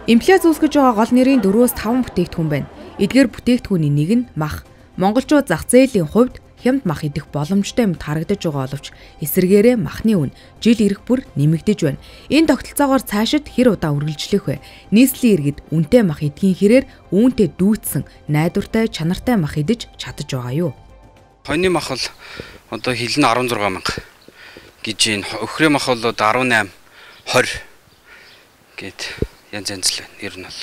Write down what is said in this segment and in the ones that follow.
Инфляц үүсгэж байгаа гол нэрийн 4-5 бүтээгдэхүүн байна. Эдгээр бүтээгдэхүүний нэг нь мах. Монголчууд зах зээлийн хувьд хямд мах идэх боломжтой юмд харагдаж байгаа боловч эсвэргээрээ махны үн жил ирэх бүр нэмэгдэж байна. Энэ тогтолцоогоор цаашид хэр удаа үргэлжлэх вэ? Нийслэлийн иргэд үнэтэй мах идхийн хэрээр үүнтэй дүүцсэн найдвартай чанартай мах идэж чадаж байгаа юу? Хоньны мах бол одоо хил нь 16 мянга гэж байна. Өхрөө мах бол 18, 20 гэд янз янз л байна. Ер нь бол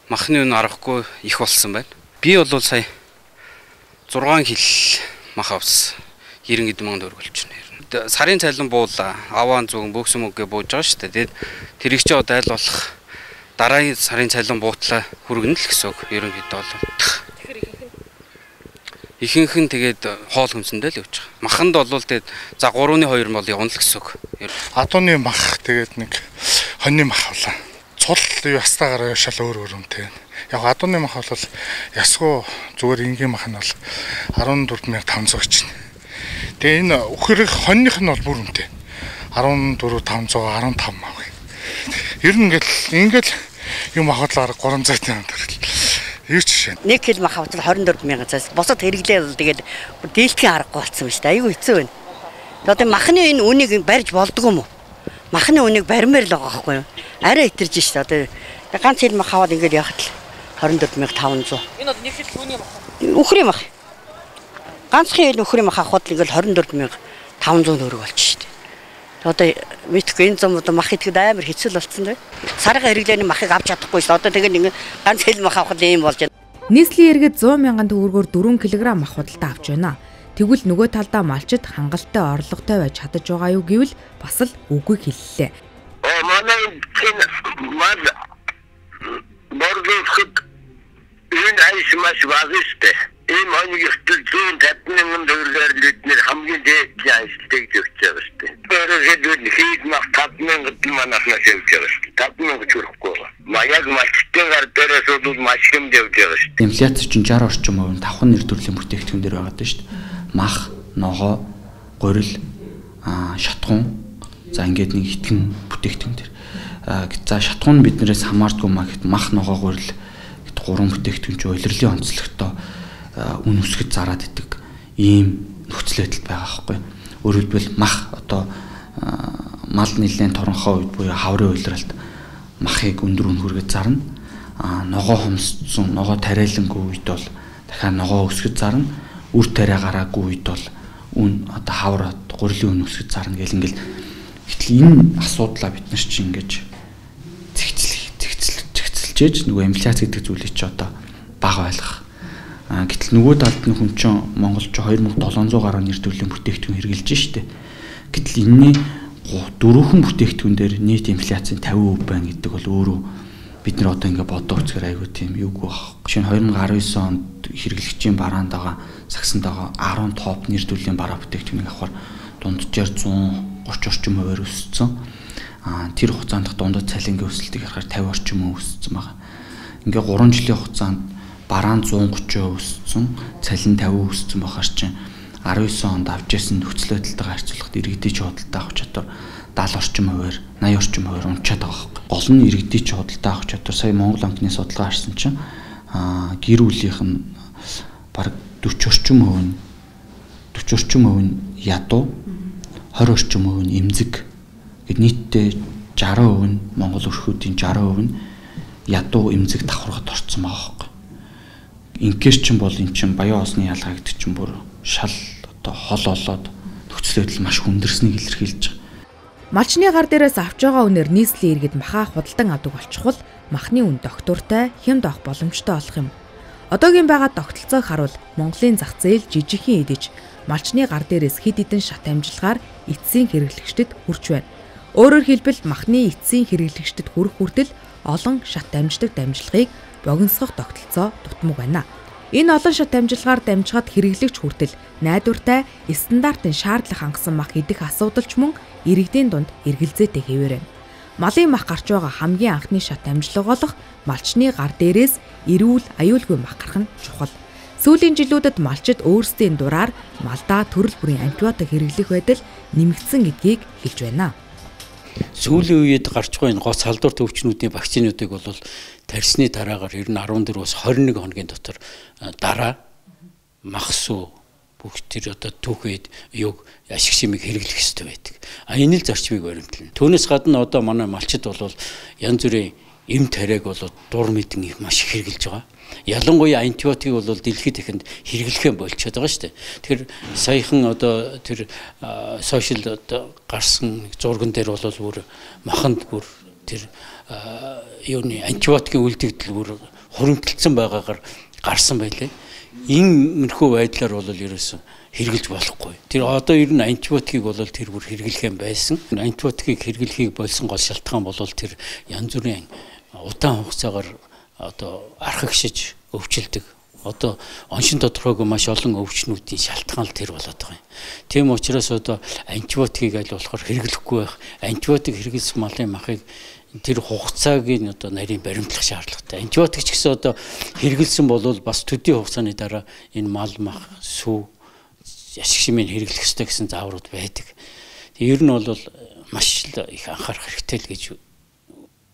махны үн аргагүй их болсон байна. Би бол сая 6 хил мах авсан. 90 эд мянга төгрөг болж байна. Сарын цайлан буулаа. Аваан зүгэн бөксөн мөгөө бууж байгаа шүү дээ. Тэгээд тэр их ч одоо айл болох дараагийн сарын цайлан буутлаа хүргэнэ л гэсэн үг. Ерөнхийдөө бол ихэнх нь тэгээд хоол хүнсэндээ л явж байгаа. Маханд бол тэгээд за 3-2 бол явна л гэсэн үг. Адууны мах тэгээд нэг хоньны мах авлаа. Цул ястаагаар шал өөр үнэтэй. Яг адууны мах бол ясгүй зүгээр энгийн мах нь бол 14500 гэж байна. Тэгээ энэ өхөрөх хоньных нь бол бүр үнэтэй. 14500 15 мав. Ер нь ингээл юм ахвал 300 төгрөг. Юу ч шин. 1 кг мах автал 24000 цаас. Босод хэрэглээ бол тэгээд дийлдэхин аргагүй болсон байна шүү дээ. Айгүй хэцүү байна. Одоо махны энэ үнийг барьж болдгоо юм уу? Махны үнийг баримаар л байгаа байхгүй юу? Арай итэрж шүү дээ. Одоо ганц хил мах аваад ингээд явахад л 24500. Энэ одоо 1 кг түүний мах. Өхрийн мах. Ганцхан хил өхрийн мах авахад л ингээд 24500 төгрөг болчих шүү дээ. Одоо мэдхгүй энэ зам одоо мах идэхэд амар хэцүү болцсон дээ. Сарга хэрэглээний махыг авч чадахгүй шүү. Одоо тэгээд ингээд ганц хил мах авахд ийм болж байна. Нийслэлийн иргэд 100 мянган төгрөгөөр 4 кг мах худалдаа авч байна. Тэгвэл нөгөө талдаа малчид хангалттай орлоготой байж чадаж байгаа юу гэвэл бас л үгүй хэллээ. Манай мал борлуулахад энэ айш маш багштай. Энэ хонийг ихтэл 150,000 төгрөгөөр л эдгээр хамгийн дээд ажилтныг өгч байгаа шүү дээ. Өөрөөр хэлбэл мах 5,000 манаас явж байгаа шүү дээ. 5,000 хүрэхгүй байна. Маяг малчтын гар дээрээс бол маш хэмд явж байгаа шүү дээ. Инфляц чинь 60 орчим хувь давхан нэр төрлийн бүтээгдэхүүн дээр байгаа шүү дээ. Мах, ногоо, гурил, шатхуун, за ингээд нэг итгэн бүтээгдэхүүн дээр. За шатхуун нь биднээс хамаардгүй мах, ногоо, гурил гэт 3 бүтээгдэхүүн чинь улирлын онцлогтой үн өсгөж зараад идэг ийм нөхцөл байдал байгаа байхгүй. Өөрөөр хэлбэл мах одоо мал нэлээд торонхоо үед буюу хаврын уйлралт махыг өндөр үн хүргэж зарна. Ногоо хомсцсон, ногоо тариалангүй үед бол дахиад ногоо өсгөж зарна. Үр тариа гараагүй үед бол үн одоо хавар гурилын үн өсгөж зарна гэл ингээл. Гэтэл энэ асуудлаа бид нар чинь ингэж зэгцэлжээж нөгөө инфляц гэдэг зүйлийг чи одоо бага ойлгох. Гэтэл нөгөө талд нь хүн чинь Монголч 2700 гаруй нэр төрлийн бүтээгдэхүүн хэрэгжилж штэ. Гэтэл энэний 4хэн бүтээгдэхүүн дээр нийт инфляцийн 50% байна гэдэг бол өөрөө бид нар одоо ингэ бодоо үзэхээр айгүй тийм юуг баг. Жишээ нь 2019 онд хэрэглэгчийн бараанд байгаа сагсанд байгаа 10 топ нэр төрлийн бараа бүтээгдэхүүнийг авахар дунджаар 130 орчим хувиар өссөн. Тэр хугацаанд дундад цалингийн өсөлтийг харахаар 50 орчим өссөн байгаа. Ингээ 3 жилийн хугацаанд бараан 130% өссөн, цалин 50% өссөн байхаар чинь 19 онд авч ясан нөхцөл байдалтайгаа харьцуулахад иргэдийн худалдаа авах чадвар 70 орчим хувиар, 80 орчим хувиар унчаад байгаа хэрэг. Гол нь иргэдийн худалдаа авах чадвар сая Монгол банкны судалгаа харсан чинь гэр бүлийнх нь бараг 40 орчим хувь нь ядуу, 20 орчим хувь нь эмзэг гэд нийтдээ 60% нь Монгол өрхүүдийн 60% нь ядуу эмзэг давхаргад орцсон байгаа хэрэг. Инкер чин бол эн чин баян осны ялгаа гэдэг чин бүр шал одоо хол олоод нөхцөл байдал маш хүндэрснийг илэрхийлж байгаа. Малчны гар дээрээс авч байгаа үнээр нийслэлийн иргэд махаа худалдан авдаг болчихвол махны үн доктортой хямд авах боломжтой болох юм. Одоогийн байгаа тогтолцоог харуул Монголын зах зээл жижигхэн идэж малчны гар дээрээс хэд хэдэн шат амжилгаар эцсийн хэрэглэгчдэд хүрч байна. Өөрөөр хэлбэл махны эцсийн хэрэглэгчдэд хүрэх хүртэл олон шат амждаг дамжлагыг богиносгох тогтолцоо дутмаг байна. Энэ олон шат дамжлагаар дамжгаад хэрэглэгч хүртэл найдвартай стандартын шаардлага хангасан мах идэх асуудал ч мөн иргэдийн дунд эргэлзээтэй хэвээр байна. Малын мах гарч байгаа хамгийн анхны шат дамжлага болох малчны гар дээрээс эрүүл аюулгүй мах гарах нь чухал. Сүүлийн жилүүдэд малчид өөрсдийн дураар малдаа төрөл бүрийн антибиотик хэрэглэх байдал нэмэгдсэн гэдгийг хэлж байна. Сүүлийн үед гарч байгаа энэ гоц халдвар төвчнүүдийн вакцинуудыг бол тарьсны дараагаар ер нь 14-өөс 21 хоногийн дотор дараа махсуу бүх тэр одоо түүхэд юг ашиг шимийг хэрэглэх ёстой байдаг. Энэ л зарчмыг баримтлана. Түүнээс гадна одоо манай малчид бол янз бүрийн эм тариаг бол дур мэдэн их маш их хэрэглэж байгаа. Ялангуяа антибиотик бол дэлхийд ихэнд хэрэглэхээ болчиход байгаа шүү дээ. Тэгэхээр саяхан одоо тэр сошиал одоо гарсан зурган дээр бол бүр маханд бүр тэр юуны антибиотикийн үлдэгдэл бүр хуримтлагдсан байгаагаар гарсан байлээ. Иймэрхүү байдлаар бол ерөөсөн хэрэглэж болохгүй. Тэр одоо ер нь антибиотикийг бол тэр бүр хэрэглэх юм байсан. Антибиотикийг хэрэглэхийг болсон гол шалтгаан бол тэр янз бүрийн удаан хугацаагаар одоо архагшиж өвчлөдөг. Одоо оншин тодорхойгүй маш олон өвчнүүдийн шалтгаан л тэр болоод байгаа юм. Тийм учраас одоо антибиотикийг аль болохоор хэрэглэхгүй байх. Антибиотик хэрэглэсэн малын махыг тэр хугацааг нь одоо нарийн баримтлах шаардлагатай. Антибиотик ч гэсэн одоо хэрэглэсэн бол бас төдий хугацааны дараа энэ мал мах сүү ашиг шимийг хэрэглэх ёстой гэсэн зааврууд байдаг. Ер нь бол маш их анхаарах хэрэгтэй л гэж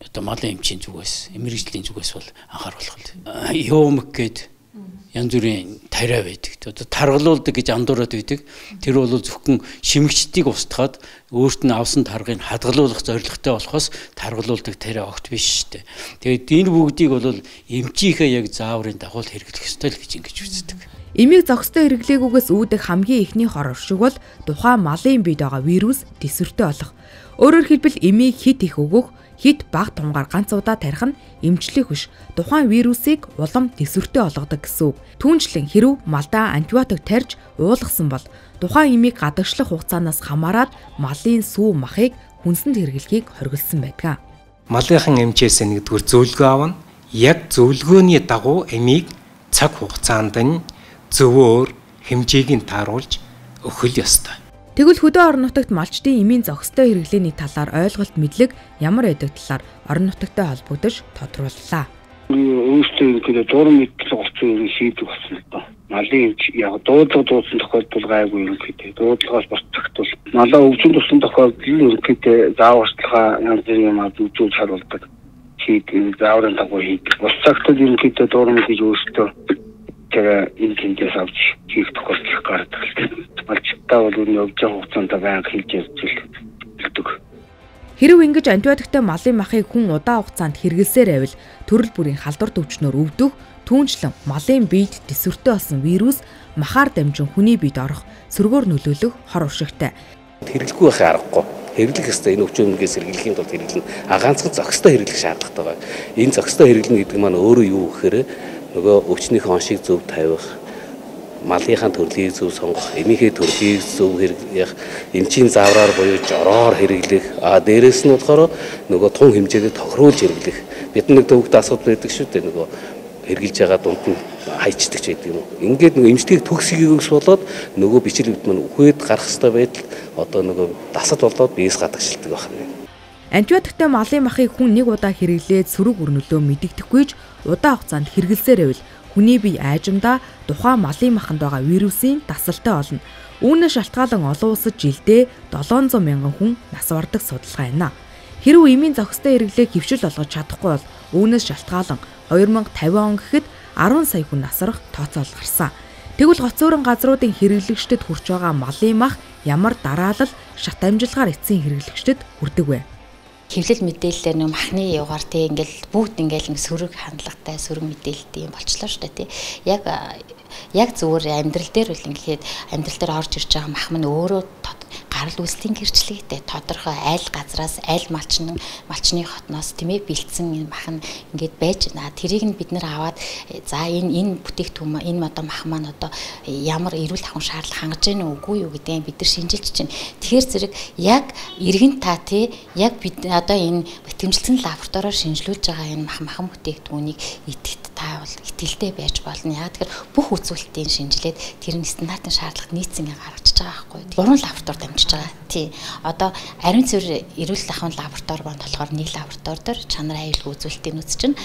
одоо малын эмчийн зүгээс, мэрэгжлийн зүгээс бол анхааруулах л. Юмк гээд янз бүрийн тариа байдаг. Одоо таргалуулдаг гэж андуураад байдаг. Тэр бол зөвхөн шимэгчдийг устгаад өөрт нь авсан таргыг хадгалуулах зорилготой болохоос таргалуулдаг тариа огт биш шүү дээ. Тэгээд энэ бүгдийг бол эмчийнхээ яг зааврын дагуу хэрэглэх ёстой л гэж ингэж үздэг. Эмийг зохистой хэрэглээгүйгээс үүдэх хамгийн ихний хор оршиг бол тухайн малын биед байгаа вирус тэсвэртэй болох. Өөрөөр хэлбэл эмийг хит их өгөх, хит бага тунгаар ганц удаа тарих нь эмчлэх биш. Тухайн вирусыг улам тэсвэртэй болгодог гэсэн үг. Түүнчлэн хэрв малдаа антибиотик тарьж уулгасан бол тухайн эмийг гадагшлах хугацаанаас хамаарат малын сүү махыг хүнсэнд хэрэглэхийг хориглосон байдаг. Малынхан эмчээс нэгдүгээр зөвлөгөө авна. Яг зөвлөгөөний дагуу эмийг цаг хугацаанд нь зөвөр хэмжээг нь тааруулж өгөх ёстой. Тэгвэл хөдөө орон нутагт малчдын эмийн зохистой хэрэглээний талаар ойлголт мэдлэг ямар байдаг талаар орон нутагтай холбогдож тодрууллаа. Өөрсдөө ингээд зураг мэдл олцсон шийдвэр болсон л доо. Малын эмч яг дуудлага дуусан тохиолдол гайгүй юм гэдэг. Дуудлагаас бас цагтвал малаа өвчин тусан тохиолдол ерөнхийдөө зааварчилгаа янз бүрийн юм үзүүл харуулдаг. Шийдвэр зааврын дагуу хийдэг. Бус цагтвал ерөнхийдөө зураг мэдж өөрсдөө тэр энэ тэмдээс авч хийх тохиолдол гардаг л дээ. Малчтаа бол энэ явж байгаа хугацаанд байнга хийж явдаг. Хэрв ингэж антибиотиктэй малын махыг хүн удаан хугацаанд хэрэглэсээр байвал төрөл бүрийн халдвар төвчнөр өвдөх, түүнчлэн малын биед тэсвэртэй болсон вирус махаар дамжин хүний биед орох, сөргөөр нөлөөлөх хор уршигтай. Хэрэглэхгүй байхын аргагүй. Хэрэглэх ёстой энэ өвчнөөс хэрэглэхийн тулд хэрэглэн ганцхан зохистой хэрэглэх шаардлагатай байна. Энэ зохистой хэрэглэнэ гэдэг маань өөрөө юу гэхээр нөгөө өвчнийхөө оншийг зөв тавих, малынхаа төрлийг зөв сонгох, эмийнхээ төрлийг зөв хэрэглэх, эмчийн заавраар буюу жороор хэрэглэх, дээрээс нь болохоор нөгөө тун хэмжээгээр тохируулж хэрэглэх. Бид нэг төвөгт асуудал байдаг шүү дээ, нөгөө хэрэгжилж байгаа дунд нь хайчдаг ч гэдэг юм уу. Ингээд нөгөө эмчтгийг төгсгийгөөс болоод нөгөө бичлэгт маань үхээд гарах хэвээр байдал одоо нөгөө дасад болоод биес гадагшилдаг байна. Антибиотиктэй малын махыг хүн нэг удаа хэрэглээд сөрөг өрнөлөө мэдэгдэхгүйж удаан хугацаанд хэрэглэсээр байвал хүний бие айжмдаа тухайн малын маханд байгаа вирусын дасалтай болно. Үүнээс шалтгаалan олон улсад жилдээ 700 мянган хүн нас бардаг судалгаа байна. Хэрв эмийн зохистой хэрэглээг хэвшил болгож чадахгүй бол үүнээс шалтгаалan 2050 он гэхэд 10 сая хүн насрах тооцоол гарсан. Тэгвэл гоцөөрөн газруудын хэрэглэгчдэд хүрч байгаа малын мах ямар дараалал, шат амжилгаар эцсийн хэрэглэгчдэд хүрдэг вэ? Хэвлэл мэдээлэлээр нэг махны югаар тий ингээл бүгд ингээл сөрөг хандлагатай сөрөг мэдээлэлтэй юм болчлоо шүү дээ тий. Яг зүгээр амьдрал дээр үл ингээд амьдрал дээр орж ирж байгаа мах мань өөрөө гарал үүслийн гэрчлэгтэй тодорхой айл газраас айл малчны хотноос тийм ээ бэлдсэн энэ мах нь ингээд байж байна. Тэрийг нь бид нэр аваад за энэ бүтээгдэхүүн энэ одоо мах маань одоо ямар эрүүл ахуйн шаардлага хангаж байна уугүй юу гэдгийг бид нар шинжилж чинь. Тэгэхээр зэрэг яг иргэн та тий яг бид одоо энэ бэтгэмжилсэн лабораториор шинжилүүлж байгаа энэ махан бүтээгдэхүүнийг идэвхтэй та бол итгэлтэй байж болно. Яг тэгэхээр бүх үзүүлэлтийн шинжилээд тэр нь стандартын шаардлагад нийцсэн гаргаж байгаа байхгүй. Гурван лаборатори дамжиж байгаа. Тий. Одоо ариун цэвэр эрүүл ахуйн лаборатори байна болохоор нэг лаборатори дээр чанар аюулгүй үзүүлэлтийн үз чинь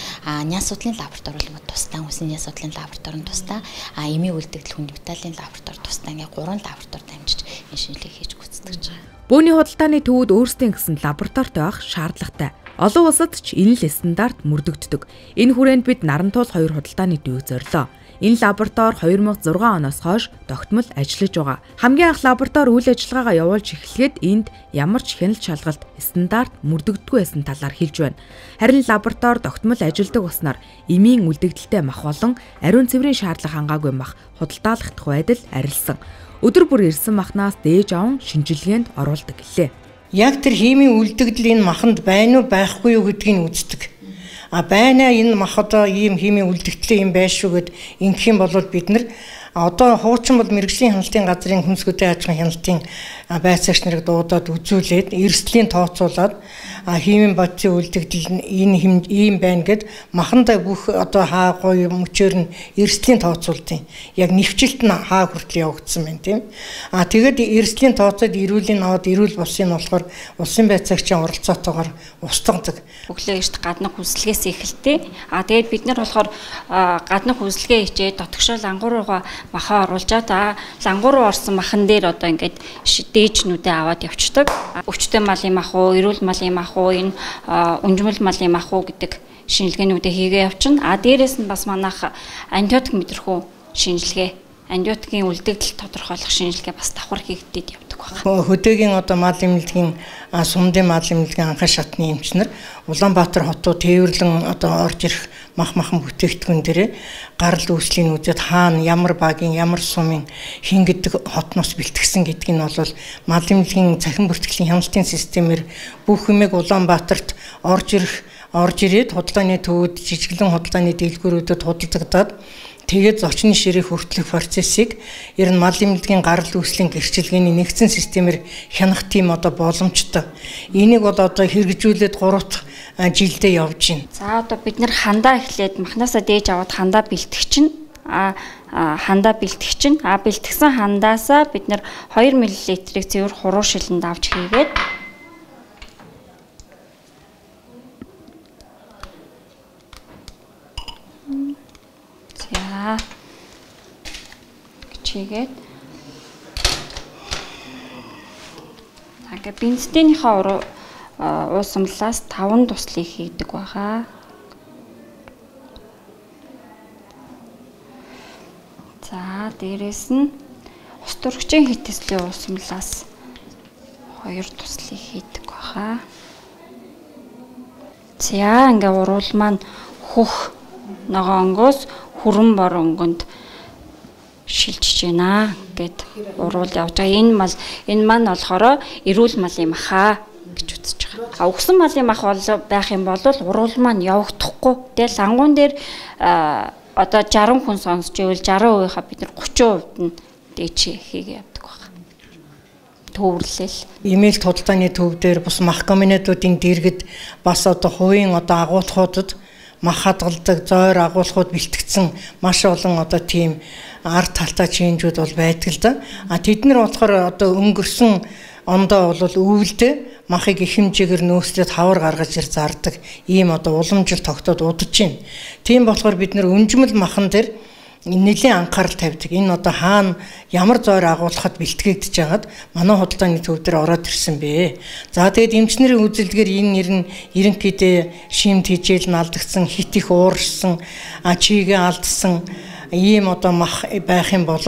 няс судлалын лаборатори бол тусдаа хүнсний няс судлалын лаборатори нь тусдаа эмийн үлдэгдэл хүн виталын лаборатори тусдаа ингээ гурван лаборатори дамжиж энэ шинжилгээг хийж гүйцэтгэв. үздэг байгаа. Бөөний худалдааны төвүүд өөрсдийн гэсэн лабораторитой байх шаардлагатай. Олон улсад ч энэ л стандарт мөрдөгддөг. Энэ хүрээнд бид Нарантуул 2 худалдааны төвийг зорилоо. Энэ лаборатори 2006 оноос хойш тогтмол ажиллаж байгаа. Хамгийн анх лаборатори үйл ажиллагаагаа явуулж эхлэхэд энд ямар ч хяналт шалгалт стандарт мөрдөгддөггүй байсан талаар хэлж байна. Харин лаборатори тогтмол ажилладаг уснаар эмийн үлдэгдэлтэй мах болон ариун цэврийн шаардлага хангаагүй мах худалдаалагдах байдал арилсан. Өдөр бүр ирсэн махнаас дээж аван шинжилгээнд оруулдаг гэлээ. Яг тэр химийн үлдэгдэл энэ маханд байна уу байхгүй юу гэдгийг үздэг. Байна энэ мах одоо ийм химийн үлдэгдэл юм байш шүү гэд ингэх юм бол бид нар одоо хуучин бол мэрэгжлийн хяналтын газрын хүнсгүүдийн аж ахуйн хяналтын байцаагч нарыг дуудаад үзүүлээд эрсдлийн тооцоолоод химийн бодисын үлдэгдэл энэ ийм байна гэд махандаа бүх одоо хаа гоё мөчөөр нь эрсдлийн тооцоолтын яг нэвчилт нь хаа хүртэл явагдсан байна тийм. Тэгээд эрсдлийн тооцоод эрүүлийн аваад эрүүл булсын нь болохоор улсын байцаагчийн оролцоотойгоор устгадаг. Өглөө эрт гаднах хүсэлгээс эхэлтээ. Тэгээд бид нар болохоор гаднах хүсэлгээ хичээд дотгошол ангууруугаа махаа оруулжаад лангуу руу орсон махан дээр одоо ингээд дээжнүүдээ аваад явцдаг. Өвчтөе малын мах уу, эрүүл малын мах уу, энэ унжмал малын мах уу гэдэг шинжилгээнүүдээ хийгээ явчихна. Дээрээс нь бас манайх антибиотик мэдрэхүү шинжилгээ, антибиотикийн үлдэгдэл тодорхойлох шинжилгээ бас давхар хийгдээд явдаг байна. Хөдөөгийн одоо мал эмнэлгийн сумдын мал эмнэлгийн анхан шатны эмчнэр Улаанбаатар хотоо тээвэрлэн одоо орж ирэх махан бүтээгдэхүүн дээрээ гарал үүслийн үзээд хаана ямар багийн ямар сумын хин гэдэг хотноос бэлтгэсэн гэдгийг нь бол мал эмнэлгийн цахим бүртгэлийн хяналтын системээр бүх юмэг Улаанбаатарт орж ирээд худалдааны төвүүд жижиглэн худалдааны дэлгүүрүүдэд худалдагдаад тэгээд зочны ширээ хүртэлх процессыг ер нь мал эмнэлгийн гарал үүслийн гэрчилгээний нэгдсэн системээр хянах тийм одоо боломжтой. Энийг бол одоо хэрэгжүүлээд 3 жилдээ явж байна. За одоо бид нэр хандаа эхлээд махнасаа дээж аваад хандаа бэлтгэж чинь хандаа бэлтгэж чинь бэлтгэсэн хандаасаа бид нэр 2 мл-ийг цэвэр хуруу шилэнд авч хийгээд чигээд ингээ бензинийнхаа уусамлаас 5 туслыг хийдэг байгаа. За дээрэс нь ус төрөгчийн хитеслийн уусамлаас 2 туслыг хийдэг байгаа. За ингээ уруул маань хөх ногоонгоос хүрэн бор өнгөнд шилжиж байна гэд уруул явж байгаа. Энэ маань болохоор эрүүл малын махаа гэж үзэж байгаа. Өгсөн малын мах бол байх юм бол уруул маань явагдахгүй. Тэгэл лангуун дээр одоо 60 хүн сонсч ивэл 60%-ийнхаа бид нар 30% нь дээч хийгээ явдаг байна. Төвөрлөл. Имэйл худалдааны төв дээр бус мах комбинатуудын дэргэд бас одоо хувийн одоо агуулгуудад мах хадгалдаг зойр агуулгууд бэлтгэгдсэн маш олон одоо тийм ард талтай чинжүүд бол байдаг л да. Тэд нар болохоор одоо өнгөрсөн ондоо бол өвөлдөө махыг их хэмжээгээр нөөцлөд хавар гаргаж ир зардаг ийм одоо уламжил тогтоод удаж байна. Тийм болохоор бид нар өнжмөл махан дээр нэлийн анхаарал тавьдаг. Энэ одоо хаана ямар зойр агуулхад бэлтгэгдэж байгаад манай худалдааны төв дээр ороод ирсэн бэ. За тэгээд эмчнэрийн үзэлдгээр энэ нэр нь ерөнхийдөө шимт хижээл нь алдагдсан, хит их уурсан, чигээ алдсан ийм одоо мах байх юм бол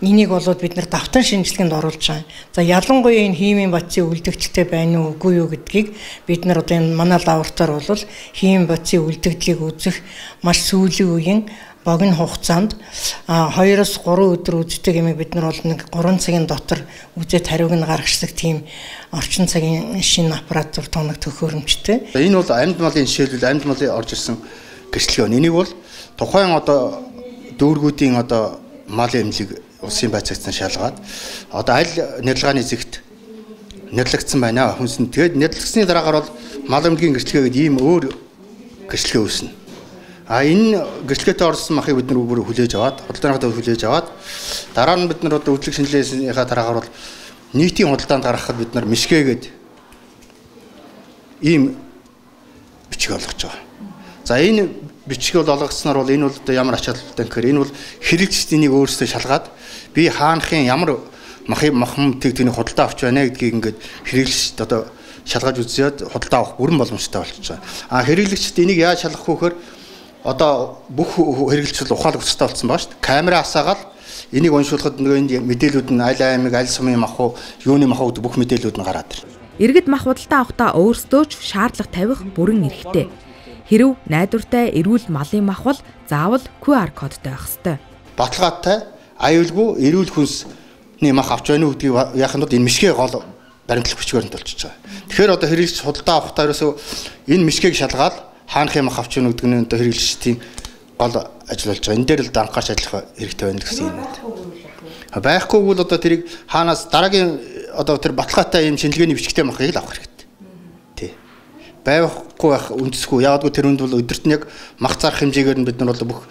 энийг болоод бид нар давтан шинжилгээнд оруулж байгаа. За ялангуяа энэ химийн бодисын үлдэгдэлтэй байна уу үгүй юу гэдгийг бид нар одоо энэ манай лаборатори бол химийн бодисын үлдэгдлийг үзэх маш сүүлийн үеийн богино хугацаанд 2-3 өдөр үздэг юмыг бид нар бол нэг 3 цагийн дотор үзээд хариуг нь гаргацдаг тийм орчин цагийн шинэ аппаратур тоног төхөөрөмжтэй. Энэ бол амьд малын жишээлбэл амьд малын орж ирсэн гэрчлэгээ. Энийг бол тухайн одоо дүүргүүдийн одоо малын эмнэлэг улсын байцаагчдаас шалгаад одоо аль нэрлэгааны зэгт нэрлэгдсэн байна хүнсэнд. Тэгээд нэрлэгдсэний дараагаар бол мал эмнэлгийн гэрчлэгээ гэдэг ийм өөр гэрчлэгээ үүснэ. Энэ гэрчлэгээтэй орсон махыг бид нар бүр хүлээж аваад, худалдааныхаа хүлээж аваад дараа нь бид нар одоо үйлчлэг шинжилгээнийхаа дараагаар бол нийтийн худалдаанд гаргахад бид нар мишгээгээд ийм бичиг олгож байгаа. За энэ бичиг олгогдсноор бол энэ бол одоо ямар ач холбогдолтой гэхээр энэ бол хэрэглэгчдийн өөрсдөө шалгаад би хаанхын ямар махан тэгтний худалдаа авч байна гэдгийг ингээд хэрэглэгч одоо шалгаж үзээд худалдаа авах бүрэн боломжтой болчихж байгаа. Хэрэглэгчд энийг яаж шалгах вэ гэхээр одоо бүх хэрэглэгчид ухаалаг өсөлттэй болсон байгаа шүү дээ. Камера асаагаад энийг уншуулахад нөгөө энд мэдээлүүд нь аль аймаг, аль сумын мах уу, юуны мах уу бүх мэдээлүүд нь гараад ирнэ. Иргэд мах худалдаа авахдаа өөрсдөө ч шаардлага тавих бүрэн эрхтэй. Хэрв найдвартай эрүүл малын мах бол заавал QR кодтой байх ёстой. Баталгаатай, аюулгүй эрүүл хүнсний мах авч байна уу гэдгийг яханд энэ мишгээ гол баримтлах бичгээр нь толчиж байгаа. Тэгэхээр одоо хэрэглэгч худалдаа авахдаа ерөөсөө энэ мишгийг шалгаад хаанхын мах авч байна гэдэг нь одоо хэрэглэгчдийн гол ажил болж байгаа. Энэ дээр л анхаарч ажиллах хэрэгтэй байна гэсэн юм байна. Байхгүй бол одоо тэрийг хаанаас дараагийн одоо тэр баталгаатай юм шинжилгээний бичгтэй махыг л авах хэрэгтэй. Тий. Байхгүй байх үндэсгүй. Яагадгүй тэр үнд бол өдөрт нь яг мах зарах хэмжээгээр нь бид нар бол бүх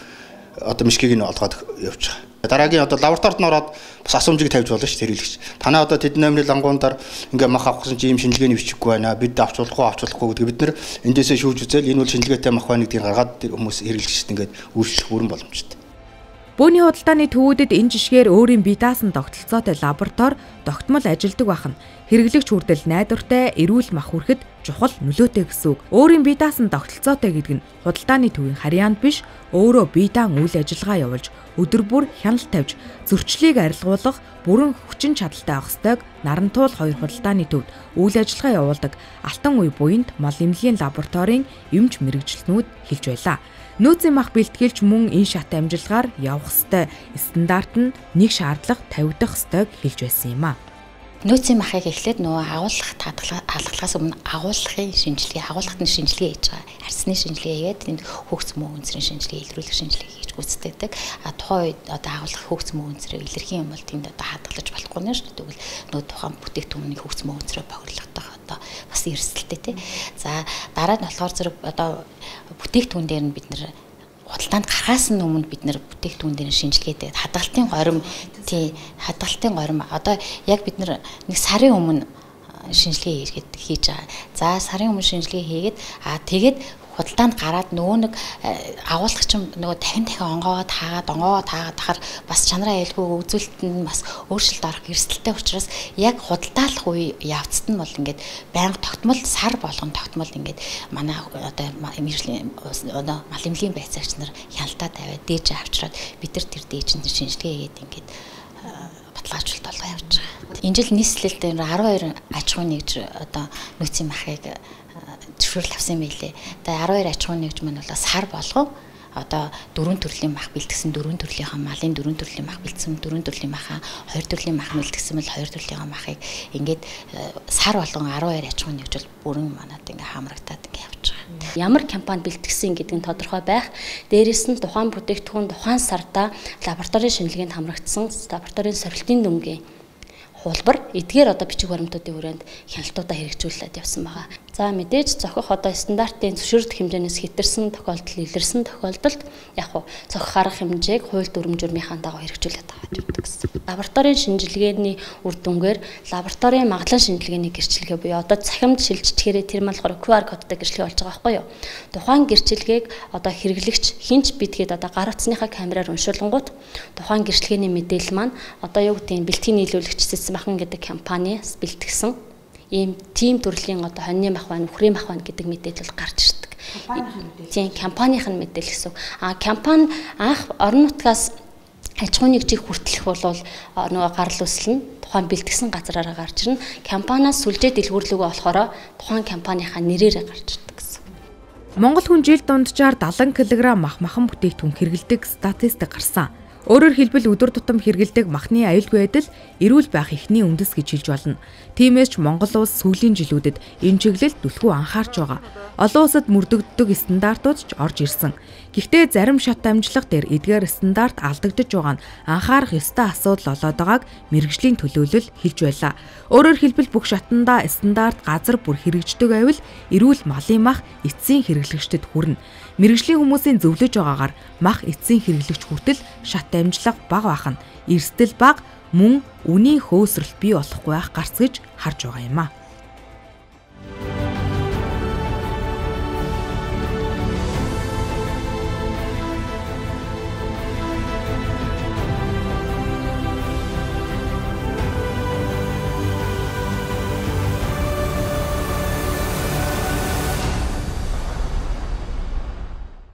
одоо мишгийг нь олгоод явж байгаа. Дараагийн одоо лабораторид нь ороод бас асуумжийг тавьж болно шүү дээ хэрэглэгч. Танай одоо тэдний номерын лангуунаар ингээ мах авах гэсэн чи ийм шинжилгээний бичиггүй байна. Бид авч болохгүй гэдэг бид нар эндээсээ шүүж үзэл энэ бол шинжилгээтэй мах байна гэдгийг гаргаад тэр хүмүүс хэрэглэгчд ингээд үйлчлэх бүрэн боломжтой. Бөөний худалдааны төвүүдэд энэ жишгээр өөрийн бие даасан тогтолцоотой лаборатори тогтмол ажилдаг бахан хэрэглэгч хүртэл найдвартай эрүүл мах хүрэхэд чухал нөлөөтэй гэсэн үг. Өөрийн бие даасан тогтолцоотой гэдэг нь худалдааны төвийн харьяанд биш, өөрөө бие даан үйл ажиллагаа явуулж өдөр бүр хяналт тавьж зөрчлийг арилгуулах бүрэн хүчин чадалтай байх ёстойг Нарантуул 2 худалдааны төвд үйл ажиллагаа явуулдаг Алтан уй буйнд мал эмнэлгийн лабораторийн эмч мэрэгчлэнүүд хэлж байлаа. Нөөцийн мах бэлтгэлч мөн энэ шат амжилгаар явах ёстой стандарт нь нэг шаардлага тавигдах ёстойг хэлж байсан юм а. Нөөцийн махыг эхлээд нөгөө агуулгах хаалгахаас өмнө агуулгын шинжилгээ хийж байгаа. Арсны шинжилгээ хийгээд тэнд хөгц мөн үнцрийн шинжилгээ, илрүүлэх шинжилгээ хийж гүйцэтгэдэг. Тухайн үед одоо агуулгах хөгц мөн үнцрээ илэрхийн юм бол тэнд одоо хадгалж болохгүй нэ шүү дээ. Тэгвэл нөгөө тухайн бүтээгдэхүүний хөгц мөн үнцрээ бохирлогдох одоо бас эрсдэлтэй тий. За дараа нь болохоор зэрэг одоо бүтээгдэхүүн дээр нь бид нэр худалдаанд гарахаас өмнө бид нэр бүтээгдэхүүн дээр шинжилгээтэй хадгалтын горим одоо яг бид нэг сарын өмнө шинжилгээ хийж байгаа. За сарын өмнө шинжилгээ хийгээд тэгээд худалдаанд гараад нөгөө нэг агуулгач нөгөө дахин онгоод хаагаад тахаар бас чанараа айлгүй үзүүлэлт нь бас өөрчлөлт орох эрсдэлтэй учраас яг худалдаалах үе явцад нь бол ингээд байнга тогтмол сар болгон тогтмол ингээд манай одоо мэржлийн одоо мал эмнэлгийн байцаагч нар хяналтаа тавиад дээж авчраад бид нар тэр дээж нь шинжилгээ хийгээд ингээд баталгаажуулалт болгоо явж байгаа. Энэ жил нийслэлд 12 аж ахуйн нэгж одоо нөөцийн махыг зөвшөөрөл авсан байлээ. Тэгээ 12 аж ахуйн нэгж маань бол сар болгоо одоо 4 төрлийн мах бэлтгэсэн 4 төрлийнхаа малын 4 төрлийн мах бэлтгэсэн 4 төрлийн махаа 2 төрлийн мах бэлтгэсэн бол 2 төрлийнхаа махыг ингээд сар болгон 12 аж ахуйн нэгж бол бүрэн манад ингээд хамрагдаад ингээд явж байгаа. Ямар компани бэлтгэсэн гэдэг нь тодорхой байх. Дээрээс нь тухайн бүтээгдэхүүн тухайн сарда лабораторийн шинжилгээнд хамрагдсан лабораторийн сорилтын дүнгийн хуулбар эдгээр одоо бичиг баримтуудын хүрээнд хяналтуудаа хэрэгжүүлээд явсан байгаа. За мэдээж зохих одоо стандартын зөвшөөрөлт хэмжээнээс хэтэрсэн тохиолдол, илэрсэн тохиолдолд яг хуу зохих арга хэмжээг хууль дүрм журмынхаа дагуу хэрэгжүүлээд байгаа гэсэн. Лабораторийн шинжилгээний үр дүнгээр лабораторийн магадлан шинжилгээний гэрчилгээ буюу одоо цахимд шилжчихээрээ тэр болохоор QR кодтой гэрчилгээ болж байгаа байхгүй юу? Тухайн гэрчилгээг одоо хэрэглэгч хинч бидгээд одоо гар утасныхаа камераар уншуулгангууд тухайн гэрчилгээний мэдээлэл маань одоо юу гэдэг нь бэлтгэн нийлүүлэгч Махан гэдэг компаниас бэлтгэсэн ийм тим төрлийн одоо хоньны мах байна, үхрийн мах байна гэдэг мэдээлэл гарч ирдэг. Тийм компанийн мэдээлэл гэсэн. Компани анх орон нутгаас аж ахуйн нэгжийг хүртэлэх бол нөгөө гарал үүсэл нь тухайн бэлтгэсэн газараараа гарч ирнэ. Компаниас сүлжээ дэлгүүрлөгөө болохоор тухайн компанийхаа нэрээр гарч ирдэг гэсэн. Монгол хүн жилд дунджаар 70 кг махан бүтээгдэхүүн хэрэглэдэг статистик гарсан. Өөрөөр хэлбэл өдөр тутам хэрэглэдэг махны аюулгүй байдал эрүүл байх эхний үндэс гэж хэлж болно. Тиймээс ч Монгол улс сүүлийн жилүүдэд энэ чиглэлд түлхүү анхаарч байгаа. Олон улсад мөрдөгддөг стандартууд ч орж ирсэн. Гэхдээ зарим шат амжилга дээр эдгээр стандарт алдагдж байгаа нь анхаарах ёстой асуудал болоод байгааг мэрэгжлийн төлөөлөл хэлж байлаа. Өөрөөр хэлбэл бүх шатанда стандарт газар бүр хэрэгждэг байвал эрүүл малын мах эцсийн хэрэглэгчдэд хүрнэ. Мэргэжлийн хүмүүсийн зөвлөж байгаагаар мах эцсийн хэрэглэгч хүртэл шат амжилга бага байх нь эрсдэл бага мөн үнийн хөөсрөл бий болохгүй байх гарц гэж харж байгаа юм а.